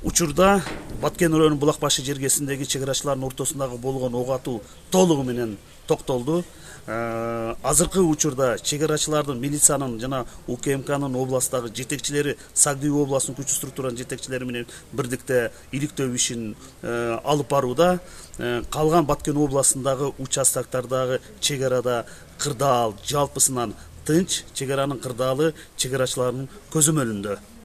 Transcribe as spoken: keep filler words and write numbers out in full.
Учурда Баткен районунун Булак башы жергесиндеги чек арачылардын ортосундагы болгон ок атуу толугу менен токтолду. Азыркы учурда чек арачылардын, милициянын жана У К М Кнын областтагы жетекчилери, Сагдыбүй областынын күчтүү структуранын жетекчилери менен бирдикте иликтөө ишин алып барууда. Калган Баткен областындагы участоктардагы чек арада кырдаал жалпысынан тынч, чек аранын кырдаалы чек арачылардын көзөмөлүндө.